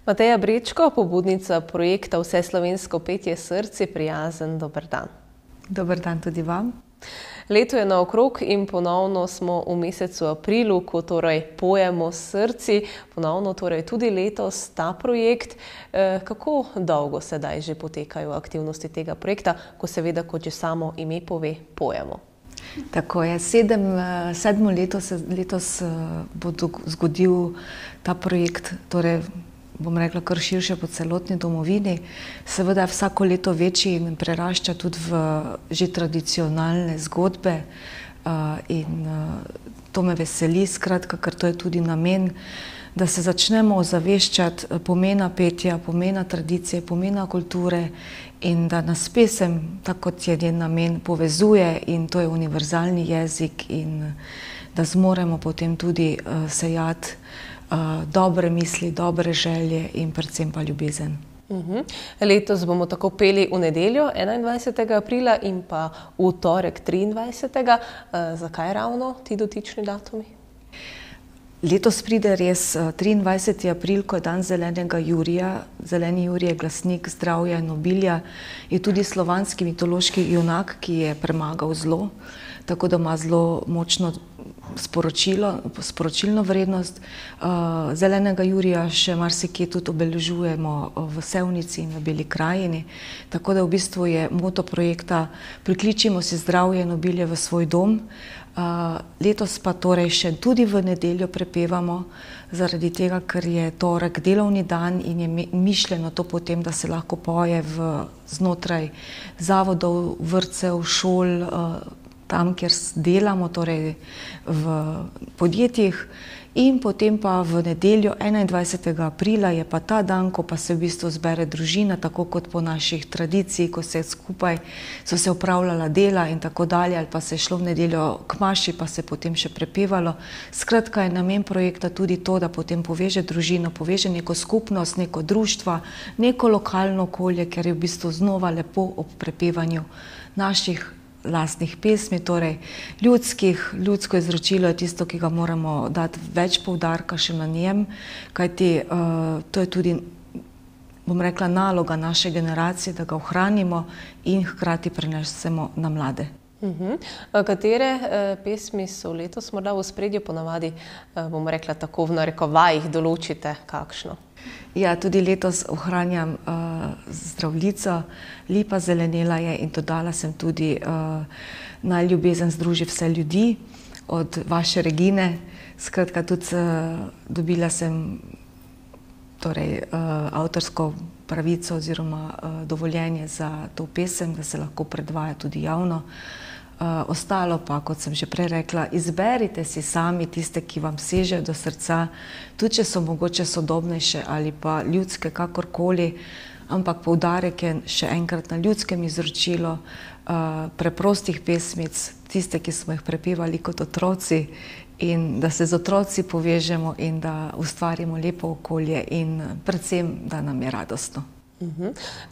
Mateja Brečko, pobudnica projekta Vseslovensko petje src, je prijazen dober dan. Dober dan tudi vam. Leto je naokrog in ponovno smo v mesecu aprilu, ko torej pojemo s srci. Ponovno torej tudi letos ta projekt. Kako dolgo sedaj že potekajo aktivnosti tega projekta, ko seveda, kot že samo ime pove, pojemo? Tako je, sedmo leto se letos bo zgodil ta projekt, torej bom rekla kar širše po celotni domovini. Seveda je vsako leto večji in prerašča tudi v že tradicionalne zgodbe in to me veseli, skratka, ker to je tudi namen, da se začnemo ozaveščati pomena petja, pomena tradicije, pomena kulture in da nas pesem, tako kot je njen namen, povezuje in to je univerzalni jezik in da zmoremo potem tudi sejati dobre misli, dobre želje in predvsem pa ljubezen. Letos bomo tako peli v nedeljo 21. aprila in pa v torek 23. Zakaj ravno ti dotični datumi? Letos pride res 23. april, ko je dan zelenega jurija. Zeleni jurij je glasnik zdravja in obilja, je tudi slovanski mitološki junak, ki je premagal zlo, tako da ima zelo močno sporočilno vrednost. Zelenega jurija še marsikje tudi obeležujemo v Sevnici in v Beli krajini, tako da v bistvu je moto projekta Prikličimo si zdravje in obilje v svoj dom. Letos pa torej še tudi v nedeljo prepevamo, zaradi tega, ker je torek delovni dan in je mišljeno to potem, da se lahko poje znotraj zavodov, vrtcev, šol, tam, kjer delamo, torej v podjetjih. In potem pa v nedeljo 21. aprila je pa ta dan, ko pa se v bistvu zbere družina, tako kot po naših tradiciji, ko se skupaj so se opravljala dela in tako dalje, ali pa se je šlo v nedeljo k maši, pa se potem še prepevalo. Skratka je namen projekta tudi to, da potem poveže družino, poveže neko skupnost, neko društvo, neko lokalno okolje, ker je v bistvu znova lepo ob prepevanju naših lastnih pesmi, torej ljudsko izročilo je tisto, ki ga moramo dati več poudarka še na njem, kajti to je tudi, bom rekla, naloga naše generacije, da ga ohranimo in hkrati prenesemo na mlade. Katere pesmi so letos morda v ospredju, ponavadi, bom rekla tako v narekovajih, določite kakšno? Ja, tudi letos ohranjam Zdravljico, Lipa zelenela je in dodala sem tudi Naj ljubezen združi vse ljudi od vaše Regine. Skratka, tudi dobila sem torej avtorsko pravico oziroma dovoljenje za to pesem, da se lahko predvaja tudi javno. Ostalo pa, kot sem že prej rekla, izberite si sami tiste, ki vam sežejo do srca, tudi če so mogoče sodobnejše ali pa ljudske, kakorkoli, ampak poudarek je še enkrat na ljudskem izročilu preprostih pesmic, tiste, ki smo jih prepevali kot otroci, in da se z otroci povežemo in da ustvarimo lepo okolje in predvsem, da nam je radostno.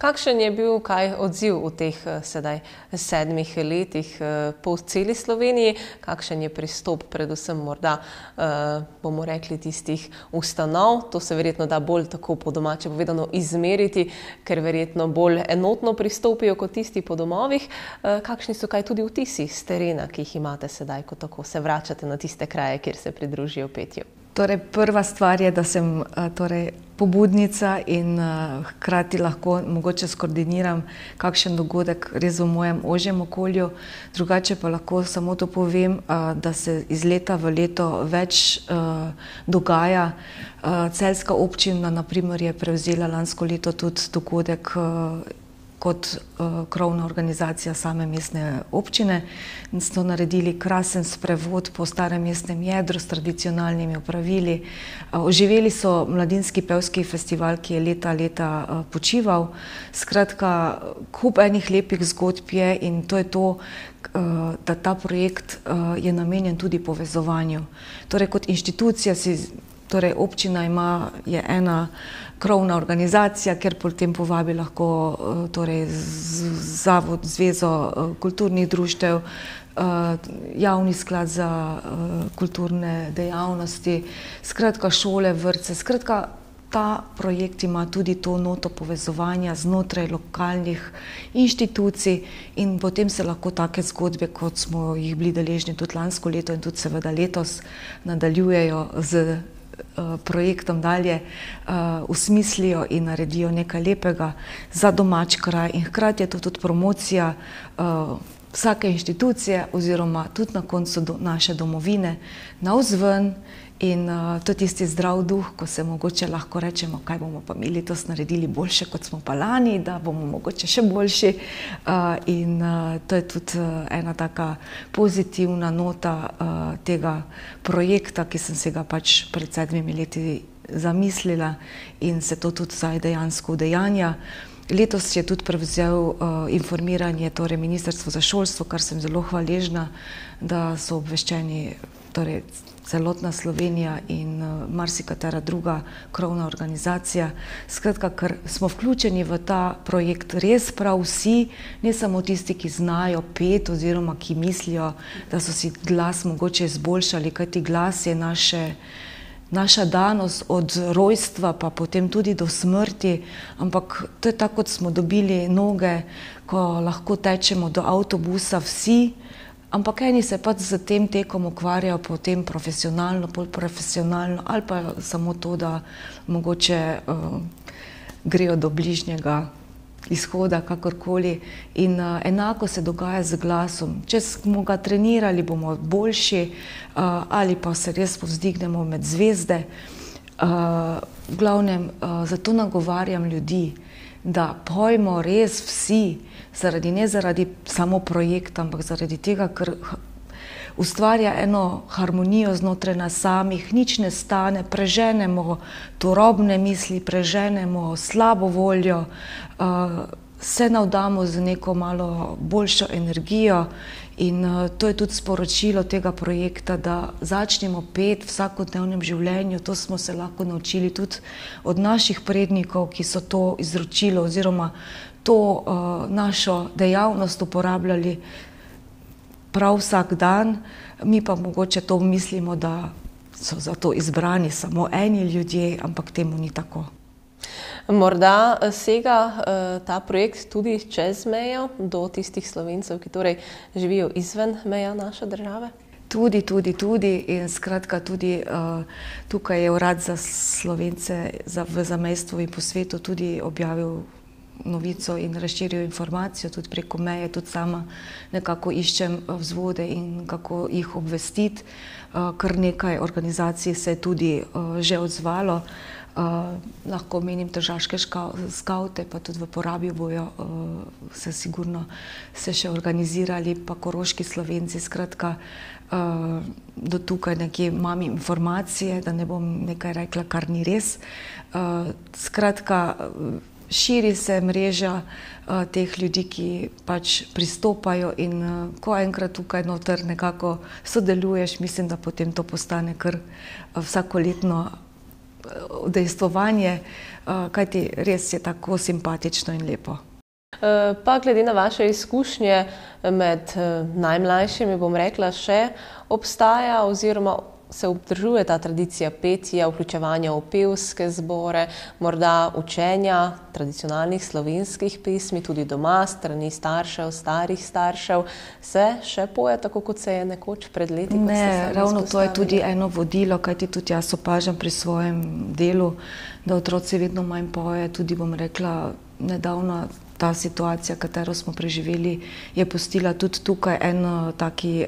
Kakšen je bil odziv v teh sedaj 7 letih po celi Sloveniji? Kakšen je pristop predvsem morda, bomo rekli, tistih ustanov? To se verjetno da bolj tako po domače povedano izmeriti, ker verjetno bolj enotno pristopijo kot tisti po domovih. Kakšni so tudi vtisi s terena, ki jih imate sedaj, ko tako se vračate na tiste kraje, kjer se pridružijo petju? Torej, prva stvar je, da sem pobudnica in hkrati lahko mogoče skoordiniram kakšen dogodek res v mojem ožjem okolju. Drugače pa lahko samo to povem, da se iz leta v leto več dogaja. Celjska občina, na primer, je prevzela lansko leto tudi dogodek kot krovna organizacija same mestne občine. So naredili krasen sprevod po starem mestnem jedru s tradicionalnimi opravili. Oživeli so mladinski pevski festival, ki je leta počival. Skratka, kup enih lepih zgodb je in to je to, da ta projekt je namenjen tudi povezovanju. Torej, kot inštitucija torej občina je ena krovna organizacija, kjer potem povabi lahko torej zavod, zvezo kulturnih društev, javni sklad za kulturne dejavnosti, skratka šole, vrtce, skratka ta projekt ima tudi to noto povezovanja znotraj lokalnih inštitucij in potem se lahko take zgodbe, kot smo jih bili deležni tudi lansko leto in tudi seveda letos, nadaljujejo z projektom dalje, usmislijo in naredijo nekaj lepega za domač kraj in hkrati je to tudi promocija vsake inštitucije oziroma tudi na koncu naše domovine navzven. In to je tisti zdrav duh, ko se mogoče lahko rečemo, kaj bomo pa mi letos naredili boljše, kot smo pa lani, da bomo mogoče še boljši. In to je tudi ena taka pozitivna nota tega projekta, ki sem se ga pač pred 7 leti zamislila in se to tudi zdaj dejansko udejanja. Letos je tudi prevzel informiranje, torej Ministrstvo za šolstvo, kar sem zelo hvaležna, da so obveščeni, torej celotna Slovenija in marsikatera druga krovna organizacija. Skratka, ker smo vključeni v ta projekt res prav vsi, ne samo tisti, ki znajo peti oziroma ki mislijo, da so si glas mogoče izboljšali, kajti glas je naša danost od rojstva pa potem tudi do smrti, ampak to je tako, kot smo dobili noge, ko lahko tečemo do avtobusa vsi, ampak eni se pač z tem tekom ukvarjajo potem profesionalno, bolj profesionalno ali pa samo to, da mogoče grejo do bližnjega izhoda, kakorkoli. In enako se dogaja z glasom. Če smo ga trenirali, bomo boljši ali pa se res povzdignemo med zvezde. V glavnem, zato nagovarjam ljudi, da pojmo res vsi, ne zaradi samo projekta, ampak zaradi tega, ker ustvarja eno harmonijo znotraj nas samih, nič ne stane, preženemo turobne misli, preženemo slabo voljo, se navdamo z neko malo boljšo energijo in to je tudi sporočilo tega projekta, da začnemo peti v vsakodnevnem življenju. To smo se lahko naučili tudi od naših prednikov, ki so to izročilo oziroma to našo dejavnost uporabljali prav vsak dan, mi pa mogoče to mislimo, da so za to izbrani samo eni ljudje, ampak temu ni tako. Morda sega ta projekt tudi čez mejo do tistih Slovencev, ki torej živijo izven meja naše države? Tudi. In skratka tudi tukaj je Urad za Slovence v zamejstvu in po svetu tudi objavil novico in razširil informacijo tudi preko meje, tudi sama nekako iščem vzvode in kako jih obvestiti. Kar nekaj organizacij se je tudi že odzvalo. Lahko omenim tržaške skavte, pa tudi v Porabju bojo se sigurno se še organizirali, pa koroški Slovenci. Skratka, do tukaj nekje imam informacije, da ne bom nekaj rekla, kar ni res. Skratka, širi se mreža teh ljudi, ki pač pristopajo in ko enkrat tukaj noter nekako sodeluješ, mislim, da potem to postane kar vsakoletno udejstvovanje, kajti res je tako simpatično in lepo. Pa glede na vaše izkušnje med najmlajšimi, bom rekla, še obstaja oziroma se obdržuje ta tradicija petja, vključevanja v pevske zbore, morda učenja tradicionalnih slovenskih pesmi, tudi doma, strani staršev, starih staršev. Se še poje tako, kot se je nekoč pred leti? Ne, ravno to je tudi eno vodilo, kajti tudi jaz opažam pri svojem delu, da otroci vedno manj poje. Tudi bom rekla, nedavno ta situacija, katero smo preživeli, je pustila tudi tukaj en taki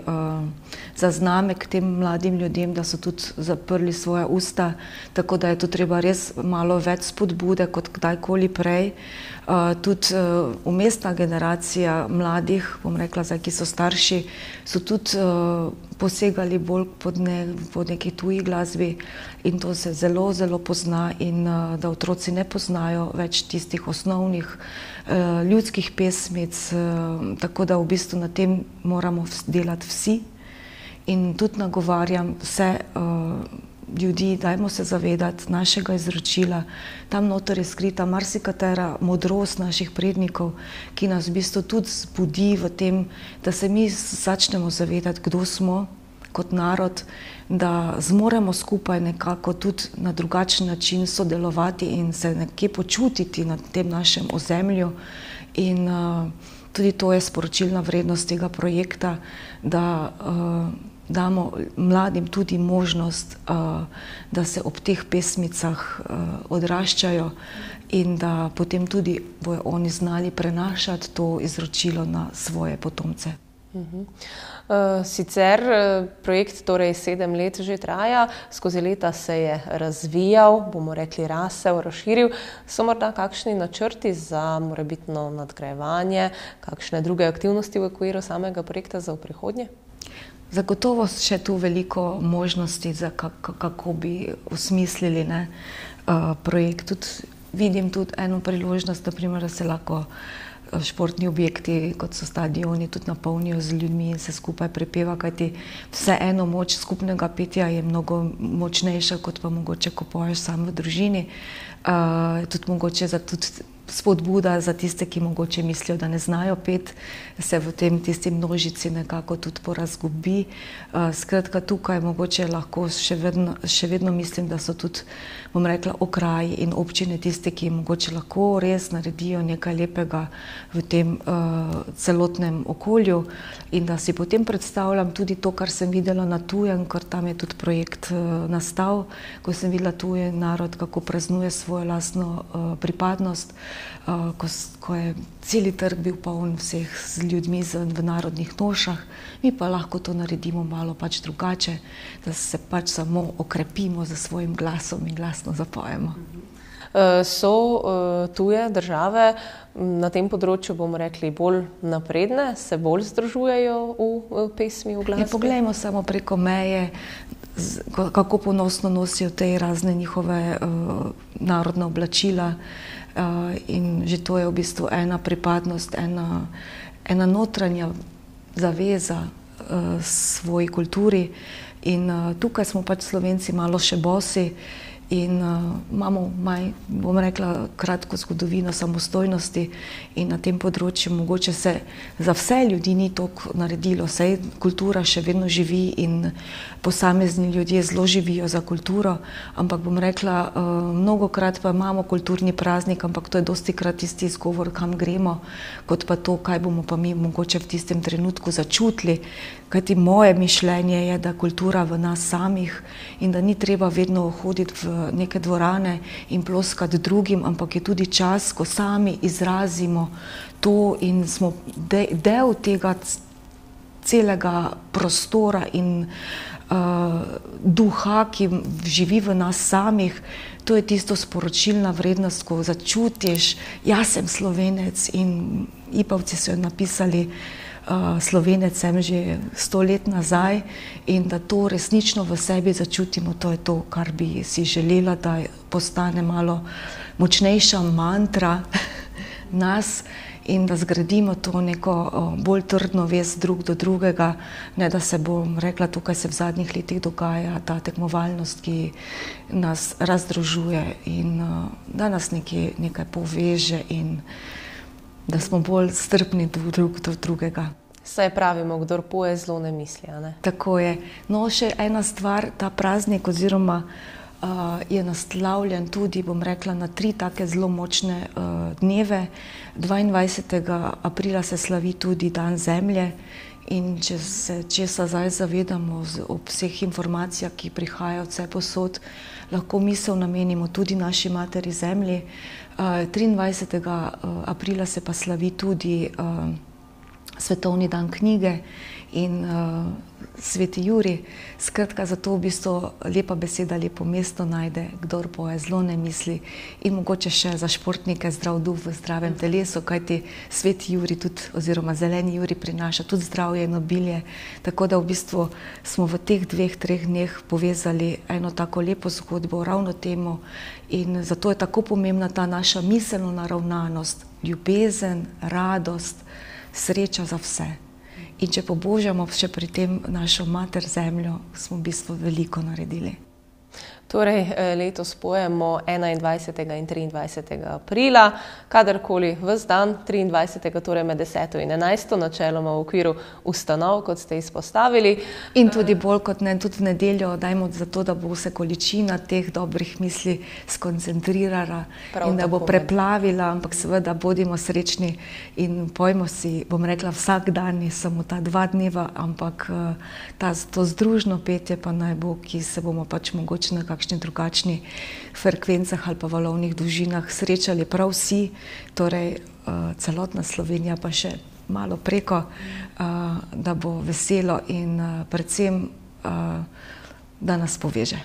zaznamek tem mladim ljudem, da so tudi zaprli svoja usta, tako da je to treba res malo več spodbude kot kdajkoli prej. Tudi umestna generacija mladih, bom rekla, zdaj, ki so starši, so tudi posegali bolj po neki tuji glasbi in to se zelo, zelo pozna in da otroci ne poznajo več tistih osnovnih ljudskih pesmic, tako da v bistvu na tem moramo delati vsi in tudi nagovarjam vse ljudi, dajmo se zavedati našega izročila. Tam noter je skrita marsikatera modrost naših prednikov, ki nas v bistvu tudi zbudi v tem, da se mi začnemo zavedati, kdo smo, kot narod, da zmoremo skupaj nekako tudi na drugačen način sodelovati in se nekje počutiti na tem našem ozemlju. In tudi to je sporočilna vrednost tega projekta, da damo mladim tudi možnost, da se ob teh pesmicah odraščajo in da potem tudi bojo oni znali prenašati to izročilo na svoje potomce. Sicer projekt torej 7 let že traja, skozi leta se je razvijal, bomo rekli rasel, razširil. So morda kakšni načrti za morebitno nadgrajevanje, kakšne druge aktivnosti v okviru samega projekta za v prihodnje? Zagotovo še tu veliko možnosti, kako bi osmislili projekt. Vidim tudi eno priložnost, naprimer, da se lahko športni objekti, kot so stadioni, tudi napolnijo z ljudmi in se skupaj prepeva, kajti vseeno moč skupnega petja je mnogo močnejša, kot pa mogoče, ko poješ sam v družini. Tudi mogoče spodbuda za tiste, ki mogoče mislijo, da ne znajo peti, se v tisti množici nekako tudi porazgubi. Skratka, tukaj mogoče lahko še vedno mislim, da so tudi, bom rekla, okraji in občine tiste, ki mogoče lahko res naredijo nekaj lepega v tem celotnem okolju, in da si potem predstavljam tudi to, kar sem videla na tujem, ker tam je tudi projekt nastal, ko sem videla tuji narod, kako praznuje svojo lastno pripadnost, ko je celi trg bil poln vseh z ljudmi v narodnih nošah, mi pa lahko to naredimo malo pač drugače, da se pač samo okrepimo za svojim glasom in glasno zapojemo. So tuje države na tem področju, bomo rekli, bolj napredne, se bolj združujejo v pesmi, v glasbi? Poglejmo samo preko meje, kako ponosno nosijo te razne njihove narodne oblačila, in že to je v bistvu ena pripadnost, ena notranja zaveza svoji kulturi. In tukaj smo pač Slovenci malo še bosi in imamo, bom rekla, kratko zgodovino samostojnosti in na tem področju mogoče se za vse ljudi ni toliko naredilo, saj kultura še vedno živi in posamezni ljudje zelo živijo za kulturo, ampak bom rekla, mnogokrat pa imamo kulturni praznik, ampak to je dostikrat tisti izgovor, kam gremo, kot pa to, kaj bomo pa mi mogoče v tistem trenutku začutili, kajti moje mišljenje je, da kultura v nas samih in da ni treba vedno hoditi v neke dvorane in ploskati drugim, ampak je tudi čas, ko sami izrazimo to in smo del tega celega prostora in duha, ki živi v nas samih. To je tisto sporočilna vrednost, ko začutiš, jaz sem Slovenec, in Ipavci so jo napisali, Slovenec sem že 100 let nazaj, in da to resnično v sebi začutimo, to je to, kar bi si želela, da postane malo močnejša mantra nas in da zgradimo to neko bolj trdno vez drug do drugega, ne da se, bom rekla, tukaj se v zadnjih letih dogaja ta tekmovalnost, ki nas razdružuje in da nas nekaj poveže in da smo bolj strpni drug do drugega. Saj pravimo, kdor poje, zlo ne misli, a ne? Tako je. No, še ena stvar, ta praznik oziroma je naslavljen tudi, bom rekla, na 3 take zelo močne dneve. 22. aprila se slavi tudi Dan Zemlje in če se česa zdaj zavedamo ob vseh informacijah, ki prihajajo vsepovsod, lahko misel namenimo tudi naši materi Zemlji. 23. aprila se pa slavi tudi Svetovni dan knjige in Sveti Jurij. Skratka, zato v bistvu lepa beseda lepo mesto najde, kdor poje, zlo ne misli, in mogoče še za športnike zdrav duh v zdravem telesu, kajti Sveti Jurij tudi, oziroma Zeleni Jurij prinaša tudi zdravje in obilje. Tako da v bistvu smo v teh 2-3 dneh povezali eno tako lepo zgodbo ravno temu in zato je tako pomembna ta naša miselna naravnanost, ljubezen, radost, sreča za vse. In če pobožamo še pri tem našo mater Zemljo, smo v bistvu veliko naredili. Torej, letos pojemo 21. in 23. aprila, kadarkoli ves dan, 23. torej med 10. in 11. načeloma v okviru ustanov, kot ste izpostavili. In tudi bolj kot ne, tudi v nedeljo dajmo za to, da bo se količina teh dobrih misli skoncentrirala in da bo preplavila, ampak seveda bodimo srečni in pojmo si, bom rekla, vsak dan ni samo ta 2 dneva, ampak to združno petje pa naj bo, ki se bomo pač mogoče na kakšni drugačni frekvencah ali pa valovnih dolžinah srečali prav vsi, torej celotna Slovenija pa še malo preko, da bo veselo in predvsem, da nas poveže.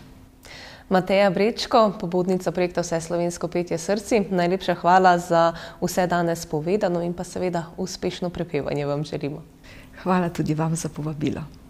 Mateja Brečko, pobudnica projekta Vseslovensko petje srci, najlepša hvala za vse danes povedano in pa seveda uspešno prepevanje vam želimo. Hvala tudi vam za povabilo.